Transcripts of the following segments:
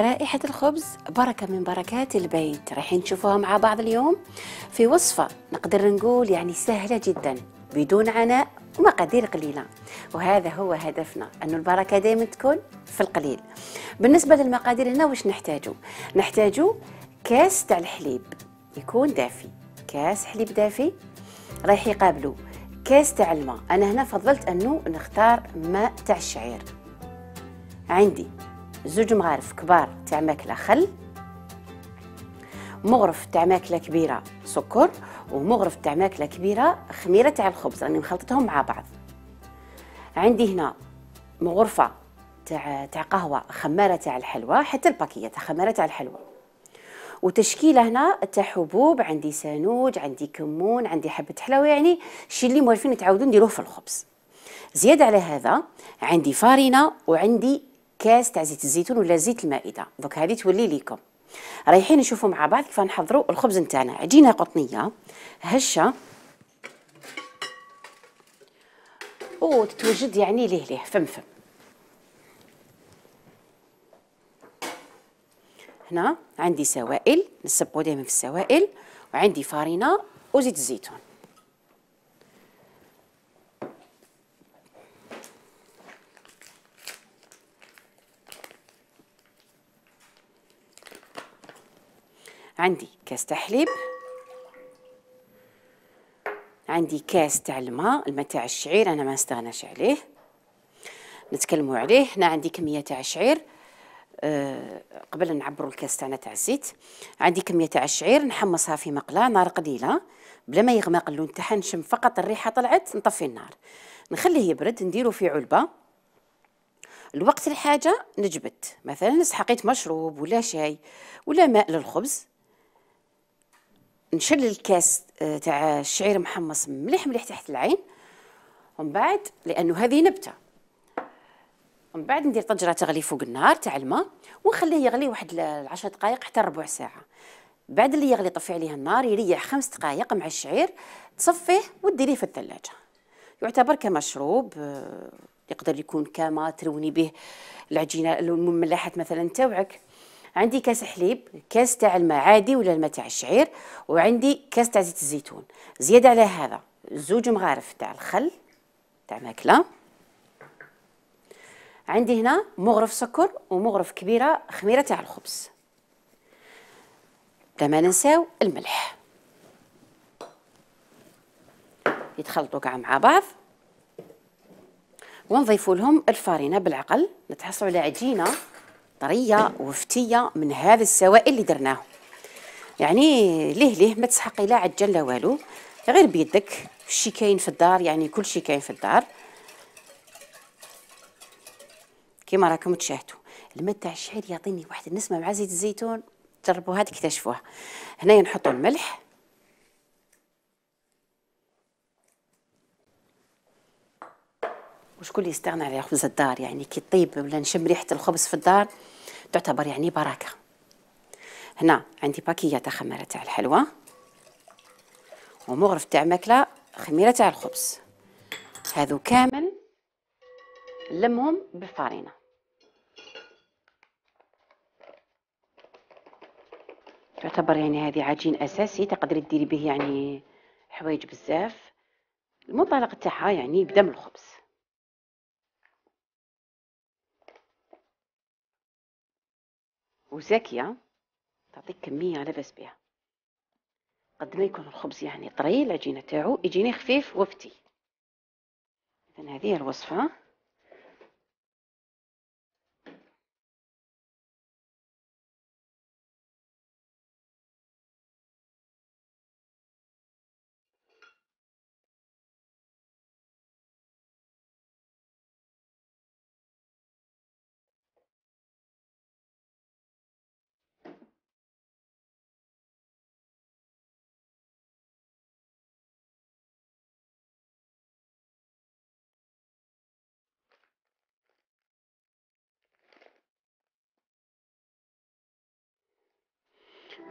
رائحة الخبز بركة من بركات البيت، رايحين نشوفوها مع بعض اليوم في وصفة نقدر نقول يعني سهلة جدا بدون عناء ومقادير قليلة، وهذا هو هدفنا، أن البركة دائما تكون في القليل. بالنسبة للمقادير هنا وش نحتاجو كاس تاع الحليب يكون دافي، كاس حليب دافي رايح يقابلو كاس تاع الماء. أنا هنا فضلت أنه نختار ماء تاع الشعير. عندي 2 مغارف كبار تاع ماكله خل، مغرف تاع ماكله كبيره سكر، ومغرف تاع ماكله كبيره خميره تاع الخبز، راني مخلطتهم مع بعض. عندي هنا مغرفه تاع قهوه خماره تاع الحلوى، حتى الباكيه تاع خماره تاع الحلوى، وتشكيله هنا تاع حبوب، عندي سانوج، عندي كمون، عندي حبه حلاوه، يعني الشيء اللي موالفين تعاودوا نديروه في الخبز. زياده على هذا عندي فارينه، وعندي كاس تاع زيت الزيتون ولا زيت المائده. دوك هذه تولي ليكم. رايحين نشوفوا مع بعض كيف نحضروا الخبز نتاعنا. عجينه قطنيه هشه وتتوجد يعني ليه فمفم. هنا عندي سوائل نسبقوا دائما في السوائل، وعندي فارينه وزيت الزيتون. عندي كاس تاع حليب، عندي كاس تاع الماء تاع الشعير، انا ما نستغناش عليه نتكلموا عليه. هنا عندي كميه تاع الشعير قبل نعبروا الكاس تاعنا تاع الزيت. عندي كميه تاع الشعير نحمصها في مقله نار قليله بلا ما يغمق اللون تاعها، نشم فقط الريحه طلعت نطفي النار، نخليه يبرد، نديرو في علبه. الوقت الحاجه نجبد، مثلا سحقيت مشروب ولا شاي ولا ماء للخبز، نشل الكاس تاع الشعير محمص مليح مليح تحت العين، ومن بعد لانه هذه نبته، ومن بعد ندير طنجره تغلي فوق النار تاع الماء ونخليه يغلي واحد 10 دقائق حتى ربع ساعه. بعد اللي يغلي طفي عليه النار، يريح 5 دقائق مع الشعير، تصفيه وديريه في الثلاجه. يعتبر كمشروب، يقدر يكون كما تروني به العجينه المملحات مثلا تاوعك. عندي كاس حليب، كاس تاع الماء عادي ولا الماء تاع الشعير، وعندي كاس تاع زيت الزيتون. زياده على هذا 2 مغارف تاع الخل تاع ماكله. عندي هنا مغرف سكر ومغرف كبيره خميره تاع الخبز. ما ننساو الملح. يتخلطوا كاع مع بعض ونضيفوا لهم الفارينه بالعقل، نتحصلوا على عجينه طريه وفتيه من هذا السوائل اللي درناه. يعني ليه ما تسحقي لا عجن لا والو، غير بيدك، الشي كاين في الدار، يعني كل شيء كاين في الدار كيما راكم تشاهدوا. الماء تاع الشعير يعطيني واحد النسمه مع زيت الزيتون، جربوها تكتشفوها. هنا نحطوا الملح، وشكون اللي يستغنى على خبز الدار، يعني كي طيب ولا نشم ريحه الخبز في الدار تعتبر يعني بركه. هنا عندي باكيه تاع خميره تاع الحلوى، ومغرف تاع ماكله خميره تاع الخبز، هذو كامل لمهم بالفارينه. تعتبر يعني هذه عجين اساسي تقدري ديري به يعني حوايج بزاف. المنطلق تاعها يعني يبدا من الخبز. وزاكيه تعطيك كميه لا باس بها. قد ما يكون الخبز يعني طري، العجينه تاعو يجيني خفيف وفتي. اذا هذه الوصفه.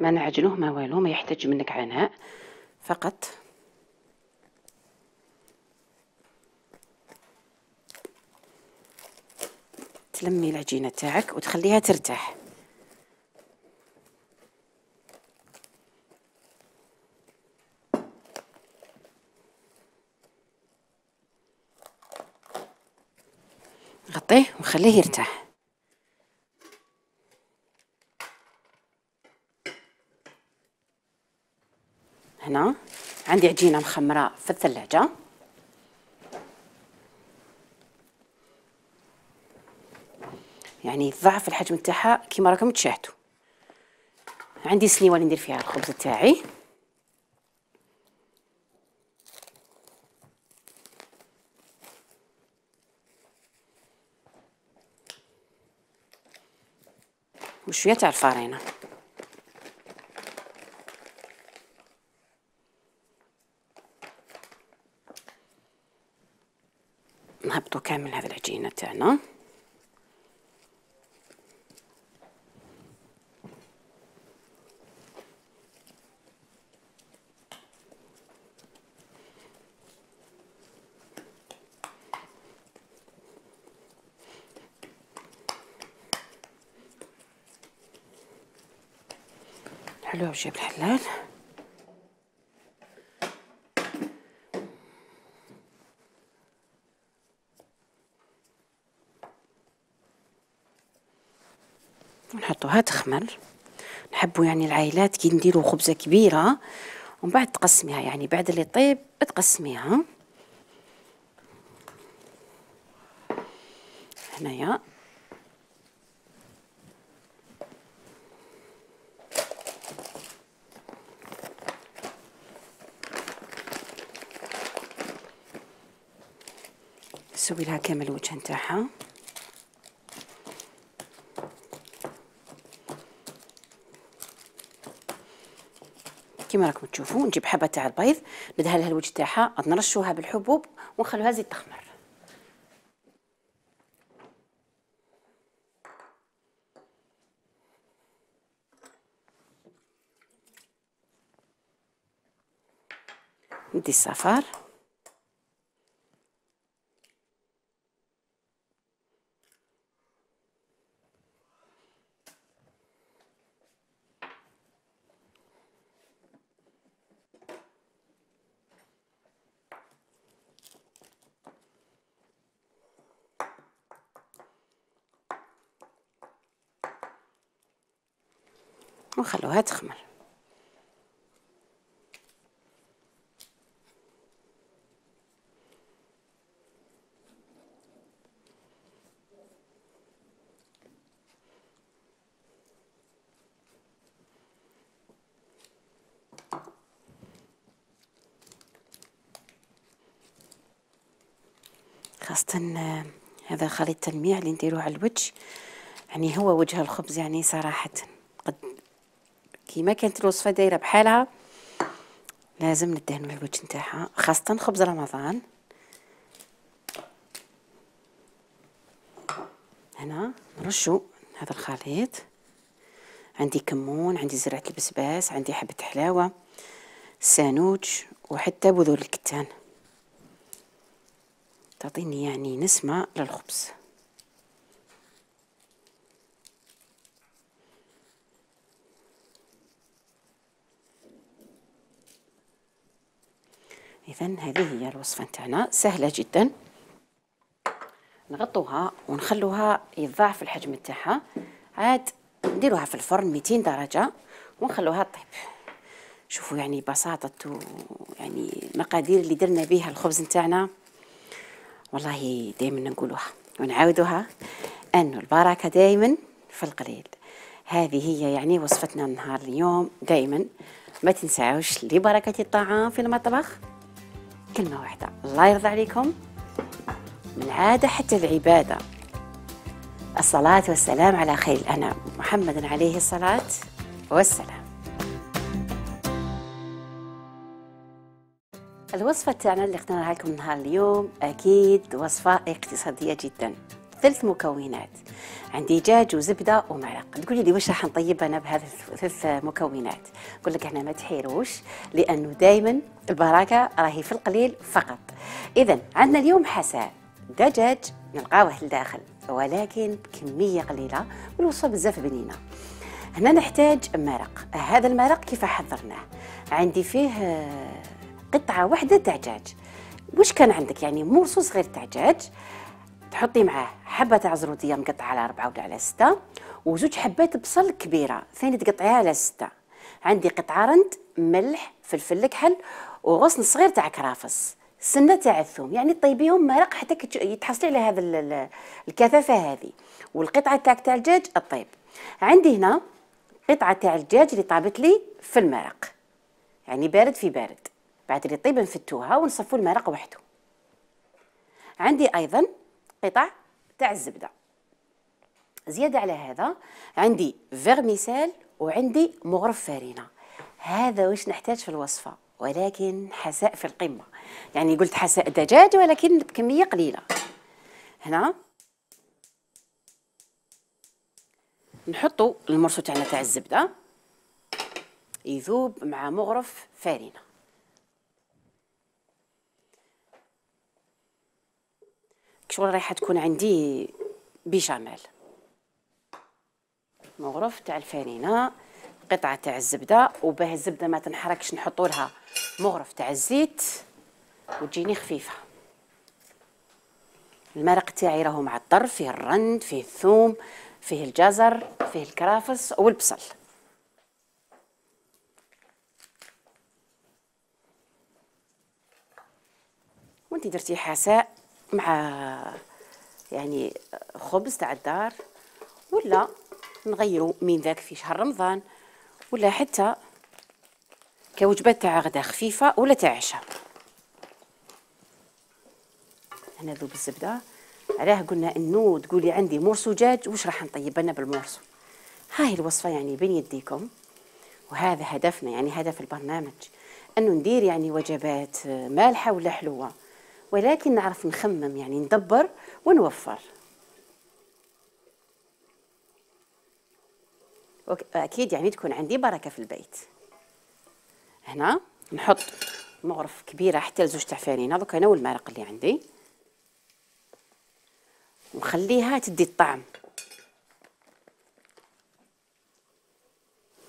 ما نعجنوه ما والو، ما يحتاج منك عناء، فقط تلمي العجينه تاعك وتخليها ترتاح. نغطيه ونخليه يرتاح. هنا عندي عجينة مخمرة في الثلاجة، يعني ضعف الحجم تاعها كيما راكم تشاهدوا. عندي سنيوه اللي ندير فيها الخبز تاعي، وشويه تاع الفارينه. نهبطوا كامل هذه العجينه تاعنا. حلوه وجيب الحلال. نحطوها تخمر. نحبوا يعني العائلات كي نديروا خبزه كبيره ومن بعد تقسميها، يعني بعد اللي طيب تقسميها. هنايا نسوي لها كامل الوجه نتاعها. كيما راكم تشوفوا نجيب حبه تاع البيض ندهن لها الوجه تاعها، نرشوها بالحبوب ونخلوها زيد تخمر. ندي الصفار ونخلوها تخمر. خاصة هذا خليط تلميع اللي نديروه على الوجه، يعني هو وجه الخبز يعني صراحة. قد كيما كانت الوصفة دايرة بحالها لازم ندهنوا الوجه نتاعها، خاصة خبز رمضان. هنا نرشوا هذا الخليط. عندي كمون، عندي زرعة البسباس، عندي حبة حلاوة، سانوج، وحتى بذور الكتان، تعطيني يعني نسمة للخبز. إذن هذه هي الوصفة نتاعنا، سهلة جدا. نغطوها ونخلوها يتضاعف الحجم نتاعها، عاد نديروها في الفرن 200 درجة ونخلوها طيب. شوفوا يعني بساطة يعني المقادير اللي درنا بها الخبز نتاعنا، والله دائما نقولوها ونعاودوها أنه البركة دائما في القليل. هذه هي يعني وصفتنا نهار اليوم. دائما ما تنساوش لبركة الطعام في المطبخ كلمة واحدة: الله يرضى عليكم. من عادة حتى العبادة، الصلاة والسلام على خير الأنام محمد عليه الصلاة والسلام. الوصفة تاعنا اللي اخترناها لكم نهار اليوم أكيد وصفة اقتصادية جدا. 3 مكونات، عندي دجاج وزبدة ومرق. تقولي لي واش راح نطيب أنا بهذه 3 مكونات؟ نقول لك احنا ما تحيروش، لأنه دايما البركة راهي في القليل فقط. إذا عندنا اليوم حساء دجاج نلقاوه لداخل، ولكن بكمية قليلة والوصفة بزاف بنينة. هنا نحتاج مرق. هذا المرق كيف حضرناه؟ عندي فيه قطعة واحدة تاع دجاج. واش كان عندك يعني مرصوص غير تاع دجاج، تحطي معاه حبه تاع زروديه مقطعه على 4 ولا على 6، وزوج حبات بصل كبيره ثاني تقطعيها على 6. عندي قطعه رند، ملح، فلفل الكحل، وغصن صغير تاع كرافس، سنه تاع الثوم، يعني طيبيهم مرق حتى يتحصلي على هذا الكثافه هذه. والقطعه تاع الدجاج الطيب. عندي هنا قطعه تاع الدجاج اللي طابت لي في المرق، يعني بارد في بارد، بعد اللي طيب نفتوها ونصفوا المرق وحده. عندي ايضا قطع تاع الزبده. زياده على هذا عندي فيرميسيل وعندي مغرف فارينه. هذا واش نحتاج في الوصفه، ولكن حساء في القمه، يعني قلت حساء دجاج ولكن بكميه قليله. هنا نحطوا المرسو تاعنا تاع الزبده يذوب مع مغرف فارينه. شغل رايحه تكون عندي بيشاميل. مغرف تاع الفارينه، قطعه تاع الزبده، وباه الزبده ما تنحركش نحطوا لها مغرف تاع الزيت وتجيني خفيفه. المرق تاعي راهو معطر، فيه الرند، فيه الثوم، فيه الجزر، فيه الكرافس والبصل. وانتي درتي حساء مع يعني خبز تاع الدار، ولا نغيروا من ذاك في شهر رمضان، ولا حتى كوجبات تاع غدا خفيفه ولا تاع عشاء. هنا ذوب الزبده. علاه قلنا انه تقولي عندي مرسو دجاج، واش راح نطيب لنا بالمرسو؟ هاي الوصفه يعني بين يديكم، وهذا هدفنا، يعني هدف البرنامج انه ندير يعني وجبات مالحه ولا حلوه، ولكن نعرف نخمم، يعني ندبر ونوفر. اكيد يعني تكون عندي بركه في البيت. هنا نحط مغرف كبيره حتى لزوج تاع فارينه، دوك انا والمرق اللي عندي، ونخليها تدي الطعم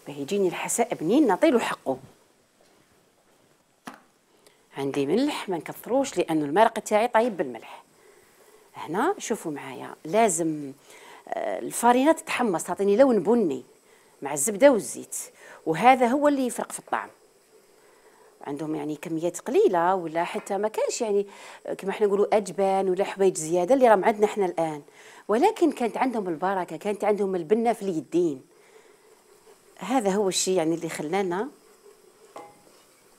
باه يجيني الحساء بنين نعطيلو حقه. عندي ملح ما نكثروش لانه المرق تاعي طيب بالملح. هنا شوفوا معايا لازم الفارينه تتحمص، تعطيني لون بني مع الزبده والزيت، وهذا هو اللي يفرق في الطعم. عندهم يعني كميات قليله ولا حتى ما كانش يعني كما احنا نقولوا اجبان ولا حوايج زياده اللي راهم عندنا احنا الان، ولكن كانت عندهم البركه، كانت عندهم البنه في اليدين. هذا هو الشيء يعني اللي خلانا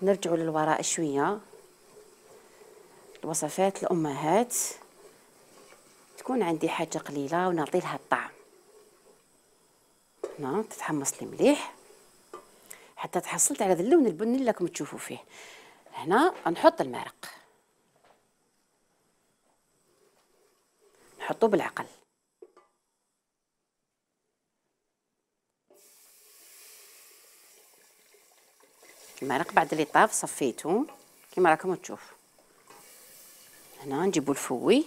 نرجعوا للوراء شويه. الوصفات الامهات تكون عندي حاجه قليله ونعطي لها الطعم. هنا تتحمص لي مليح حتى تحصلت على هذا اللون البني اللي راكم تشوفوا فيه. هنا نحط المرق، نحطه بالعقل. المرق بعد اللي طاب صفيته كما راكم تشوفوا. هنا نجيبوا الفوي،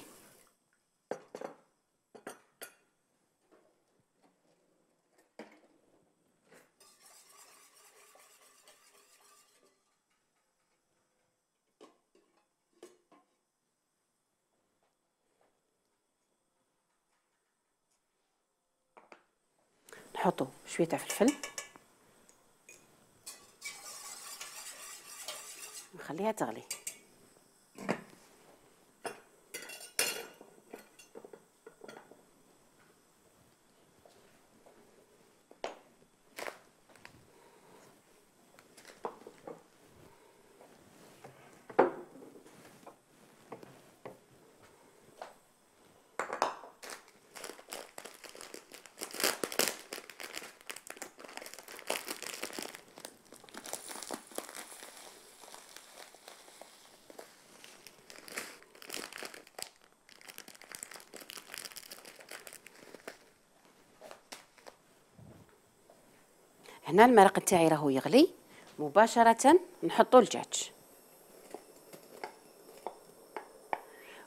نحطوا شويه تاع فلفل، نخليها تغلي. هنا المرق تاعي راهو يغلي، مباشرة نحطو الدجاج.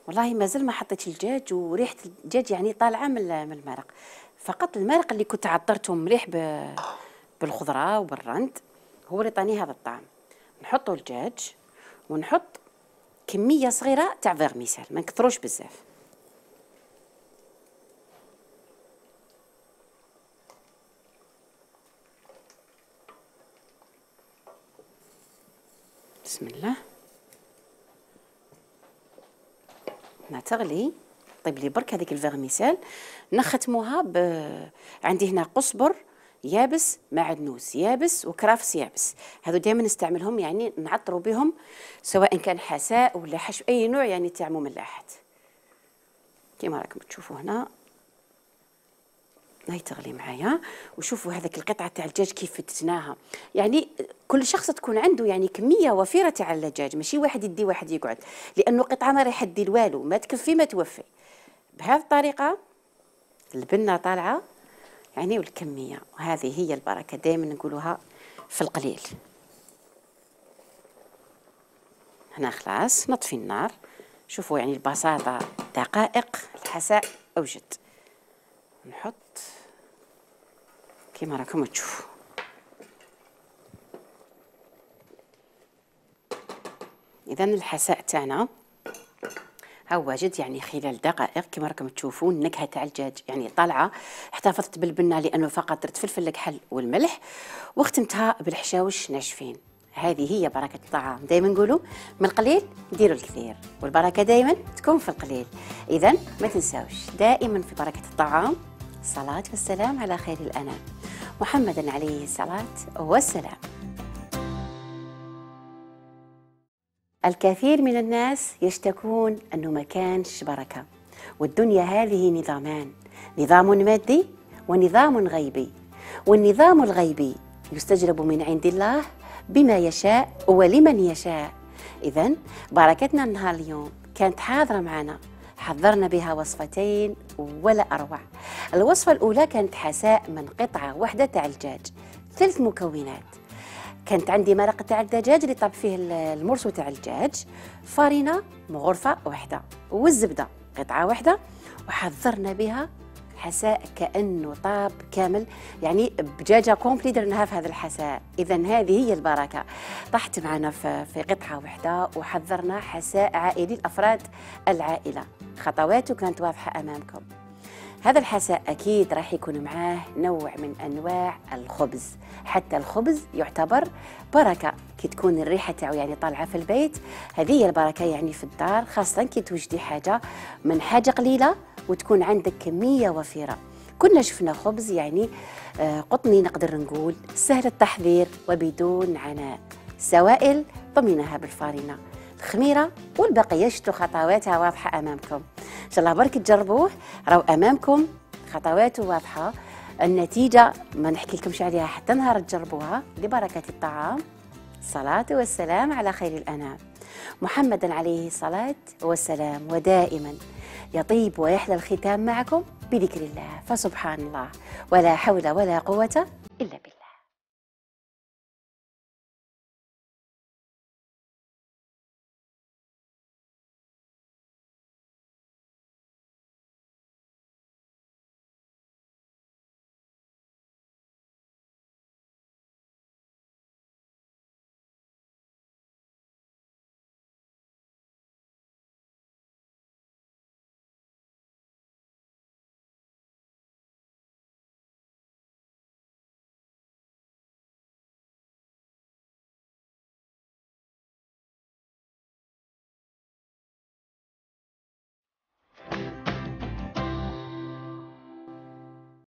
والله مازال ما حطيتش الدجاج، وريحة الدجاج يعني طالعة من المرق، فقط المرق اللي كنت عطرته مليح بالخضرة وبالرند هو اللي طاني هذا الطعم. نحطو الدجاج ونحط كمية صغيرة تاع فيرميسيل، ما نكثروش بزاف. بسم الله. هنا تغلي. طيب لي برك هذيك الفيرميسيل نختموها عندي هنا قزبر يابس، معدنوس يابس، وكرافس يابس. هذو دائما نستعملهم يعني نعطروا بهم سواء كان حساء ولا حشو اي نوع يعني تاع مملحات. كيما راكم تشوفوا هنا هاي تغلي معايا. وشوفوا هذاك القطعه تاع الدجاج كيف فتتناها. يعني كل شخص تكون عنده يعني كميه وفيره تاع الدجاج، ماشي واحد يدي واحد يقعد، لانه قطعه ما راح دير والو، ما تكفي ما توفي. بهذه الطريقه البنه طالعه يعني والكميه، وهذه هي البركه دائما نقولوها في القليل. هنا خلاص نطفي النار. شوفوا يعني البساطه، دقائق الحساء اوجد. نحط كيما راكم تشوفوا. اذا الحساء تاعنا ها واجد يعني خلال دقائق كما راكم تشوفون. النكهه تاع الدجاج يعني طالعه. احتفظت بالبنه لانه فقط درت فلفل الكحل والملح، وختمتها بالحشاوش ناشفين. هذه هي بركه الطعام. دائما نقولوا من القليل ديروا الكثير، والبركه دائما تكون في القليل. اذا ما تنساوش دائما في بركه الطعام الصلاه والسلام على خير الانام محمد عليه الصلاه والسلام. الكثير من الناس يشتكون أنه ما كانش بركة، والدنيا هذه نظامان، نظام مادي ونظام غيبي، والنظام الغيبي يستجلب من عند الله بما يشاء ولمن يشاء. إذن بركتنا النهار اليوم كانت حاضرة معنا، حضرنا بها وصفتين ولا أروع. الوصفة الأولى كانت حساء من قطعة واحدة تاع الدجاج، 3 مكونات. كانت عندي مرق تاع الدجاج اللي طاب فيه المرسو تاع الدجاج، فارينة غرفة واحدة، والزبدة قطعة واحدة، وحضرنا بها حساء كأنه طاب كامل، يعني بدجاجة كومبلي درناها في هذا الحساء. إذا هذه هي البركة. طحت معنا في قطعة واحدة، وحضرنا حساء عائلي لأفراد العائلة. خطواته كانت واضحة أمامكم. هذا الحساء أكيد راح يكون معاه نوع من أنواع الخبز. حتى الخبز يعتبر بركة كي تكون الريحة تاعو يعني طالعة في البيت. هذه هي البركة يعني في الدار، خاصة كي توجدي حاجة من حاجة قليلة وتكون عندك كمية وفيرة. كنا شفنا خبز يعني قطني نقدر نقول سهل التحضير وبدون عناء. سوائل طميناها بالفارينة، الخميرة والبقية شتو خطواتها واضحة أمامكم. إن شاء الله برك تجربوه، راهو أمامكم خطواته واضحة. النتيجة ما نحكي لكمش عليها حتى نهار تجربوها. لبركة الطعام الصلاة والسلام على خير الأنام محمد عليه الصلاة والسلام. ودائما يطيب ويحلى الختام معكم بذكر الله، فسبحان الله ولا حول ولا قوة إلا بالله.